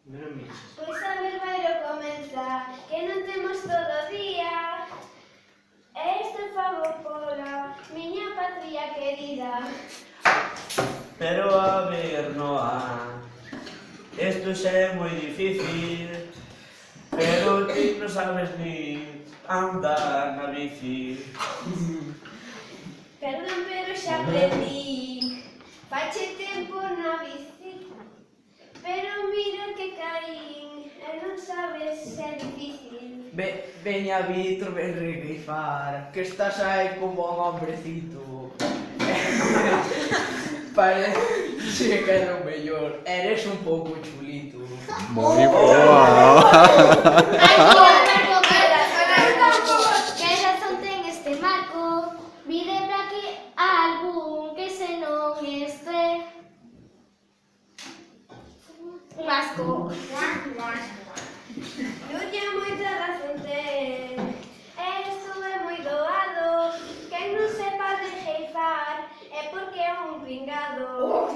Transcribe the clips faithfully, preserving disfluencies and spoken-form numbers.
Pois a ver, bailo comeza, que non temos todo o día. E isto fago pola miña patria querida. Pero a ver, Noa, isto xa é moi difícil, pero ti non sabes ni andar na bici. Perdón, pero xa aprendí. Fache tempo na bici, pero mira que caín, e non sabes se é difícil. Ve, veña, Víctor, ven regrifar, que estás aí como un hombrecito. Parece que é o mellor, eres un pouco chulito. Moi boa. Ai, Marco, para, para, que razón ten este Marco. Vide para aquí algún que se non este un asco. Nuria moita razón ten. Esto é moi doado. Quen non sepa de jeifar é porque é un pringado.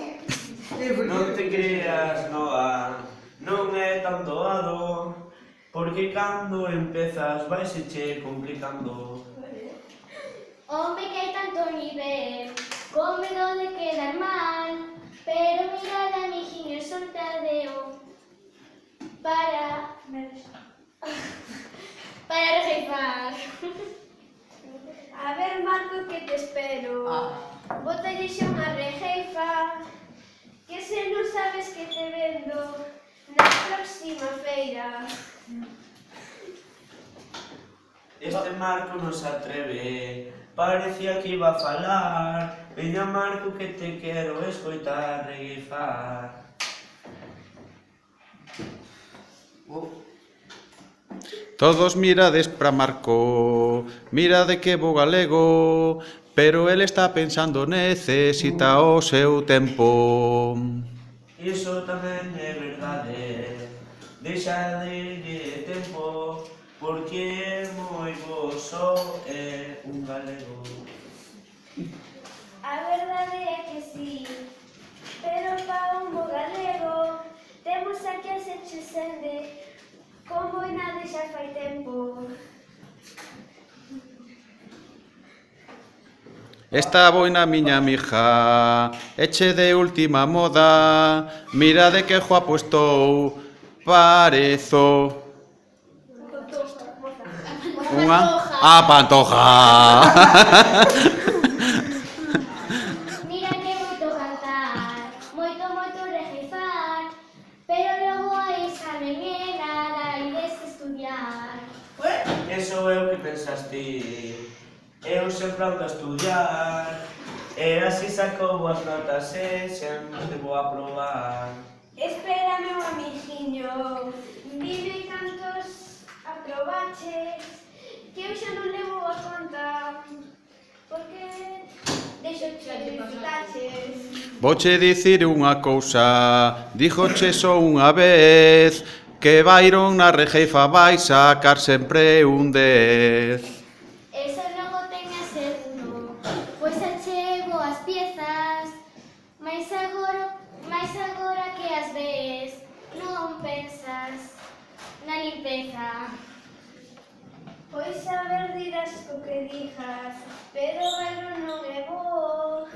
Non te creas, Noa, non é tan doado, porque cando empezas vaise che complicando. Home, que hai tanto nivel, con medo de quedar mal, pero mirad, amiguinho, soltadeo para... para rejeifar. A ver, Marco, que te espero. Ah. Bótalle xa unha rejeifa, que se non sabes que te vendo na próxima feira. Este Marco non se atreve, parecía que iba a falar. Veña, Marco, que te quero escoitar regueifar. Todos mirades pra Marco, mirade que bo galego, pero el está pensando necesita o seu tempo. Iso tamén é verdade, deixa de tempo, porque é moi bo só é un galego. A verdade é que sí, pero pa un bo galego temos aquí a Sechusende, como e nada xa fai tempo. Esta boina miña mija, eche de última moda, mirade que guapo estou, parezo unha a pantoja. Mira que moito cantar, moito, moito rejeifar, pero logo hai examen e nada ides estudiar. Eso é o que pensaste. Eu sempre ando a estudiar, e así saco boas notas e sempre vou a probar. Espera, meu amiguinho, dime cantos aprobaches, que eu xa non levo a conta, porque deixo que disfrutaches. Vouche dicir unha cousa, díjoche só unha vez, que Byron na rejeifa vai sacar sempre un dez. Eso logo teña seguro, pois achego as piezas, mais agora, mais agora que as ves, non pensas na limpeza. Pois a ver dirás co que dijas, pero algo non é bo.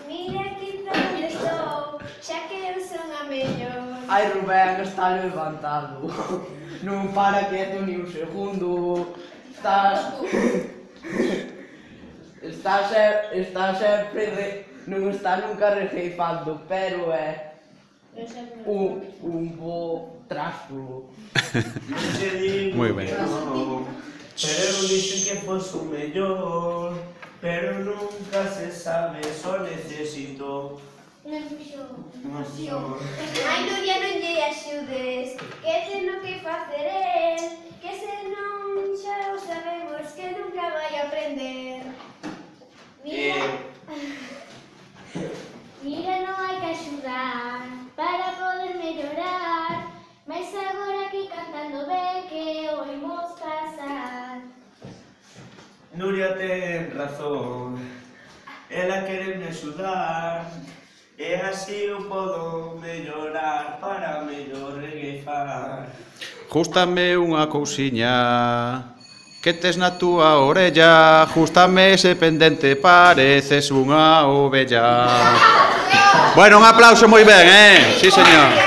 Mira que onde estou, xa que eu son a mellor. Ai, Rubén, está levantado. Non para quieto ni un segundo. Está... Está, se... está sempre... Re... Non está nunca rejeifando, pero é... Un, un bo trasto. Non te digo Moi ben. que non, pero eu dixen que fos o mellor, pero nunca se sabe, só necesito Non fixo. emoción. Ai, Nuria, non lle axudes, que ten o que facer el, que se non xa o sabemos que nunca vai aprender. Mira, mira, non hai que axudar para poder mellorar, mas agora aquí cantando ben que o imos pasar. Nuria ten razón, ela quere me axudar, e así eu podo mellorar para mellor regueifar. Jústame unha cousiña que tes na túa orella, jústame ese pendente, pareces unha ovella. Bueno, un aplauso moi ben, eh? Sí, señor.